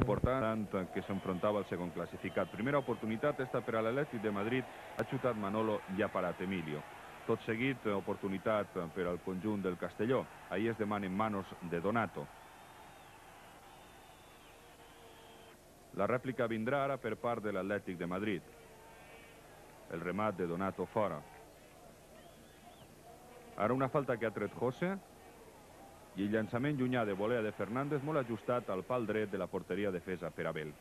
important que s'enfrontava al segon classificat. Primera oportunitat, esta per a l'Atlètic de Madrid, ha xutat Manolo i ha parat Emilio. Tot seguit, oportunitat per al conjunt del Castelló. Ahir es demanen manos de Donato. La rèplica vindrà ara per part de l'Atlètic de Madrid. El remat de Donato fora. Ara una falta que ha tret José i el llançament llunyà de volea de Fernández molt ajustat al pal dret de la porteria defesa per Abel.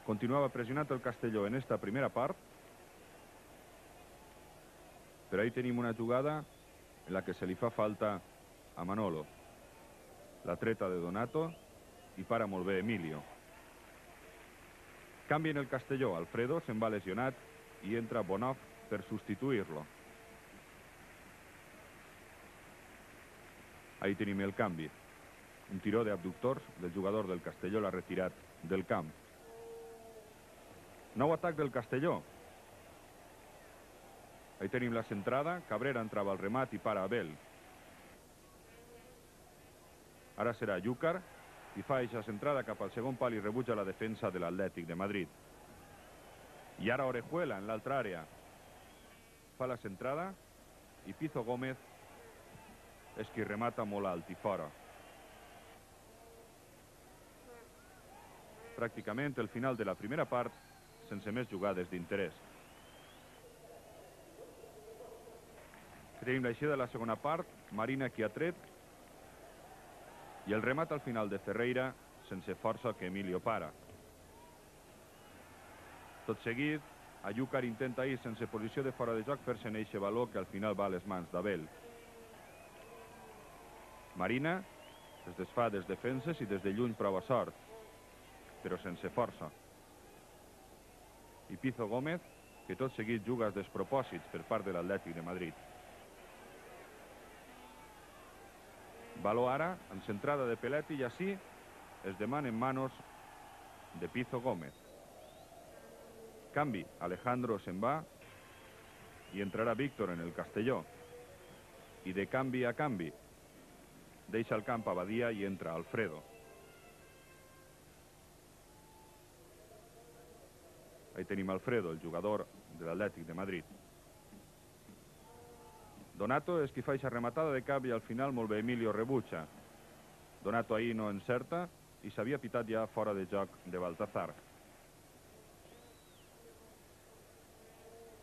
Continuava pressionat el Castelló en esta primera part, però ahí tenim una jugada en la que se li fa falta a Manolo. La treta de Donato i para molt bé Emilio. Canvi en el Castelló. Alfredo se'n va lesionat i entra Bonhoff per substituir-lo. Ahí tenim el canvi. Un tiró d'abductors del jugador del Castelló l'ha retirat del camp. Nou atac del Castelló. Ahí tenim la centrada. Cabrera entrava al remat i para Abel. Ara serà Llúcar i fa eixa centrada cap al segon pal i rebutja la defensa de l'Atlètic de Madrid. I ara Orejuela en l'altra àrea. Fa la centrada i Pizo Gómez és qui remata molt alt i fora. Pràcticament el final de la primera part sense més jugades d'interès. Tenim l'eixida de la segona part, Marina qui ha tret i el remat al final de Ferreira sense força que Emilio para. Tot seguit, Llúcar intenta ir sense posició de fora de joc fer-se en eixe valor que al final va a les mans d'Abel. Marina es desfà des defenses i des de lluny prova sort, però sense força. I Pizo Gómez, que tot seguit juga als despropòsits per part de l'Atlètic de Madrid. Baló ara, amb centrada de Peletti i així es demanen manos de Pizo Gómez. Canvi, Alejandro se'n va i entrarà Víctor en el Castelló. I de canvi a canvi deixa el camp a Badia i entra Alfredo. Ahí tenim Alfredo, el jugador de l'Atlètic de Madrid. Donato és qui fa eixa rematada de cap i al final molt bé Emilio rebutja. Donato ahir no encerta i s'havia pitat ja fora de joc de Baltazar.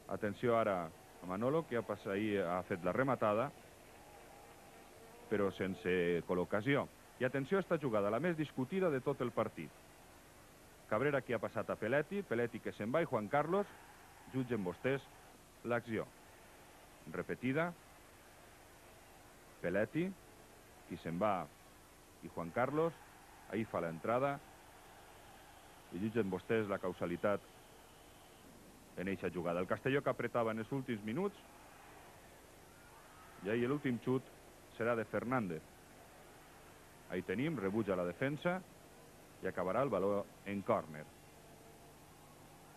Atenció ara a Manolo, que ahir ha fet la rematada, però sense col·locació. I atenció a esta jugada, la més discutida de tot el partit. Cabrera qui ha passat a Peletti, Peletti que se'n va i Juan Carlos jutgen vostès l'acció. Repetida, Peletti, qui se'n va i Juan Carlos, ahí fa l'entrada i jutgen vostès la causalitat en eixa jugada. El Castelló que apretava en els últims minuts i ahí l'últim xut serà de Fernández. Ahí tenim, rebutja la defensa i acabarà el valor en córner.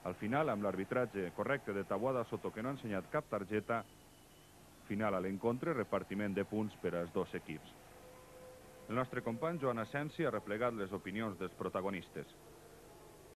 Al final, amb l'arbitratge correcte de Taboada Soto, que no ha ensenyat cap targeta, final a l'encontre, repartiment de punts per als dos equips. El nostre company Joan Asensi ha replegat les opinions dels protagonistes.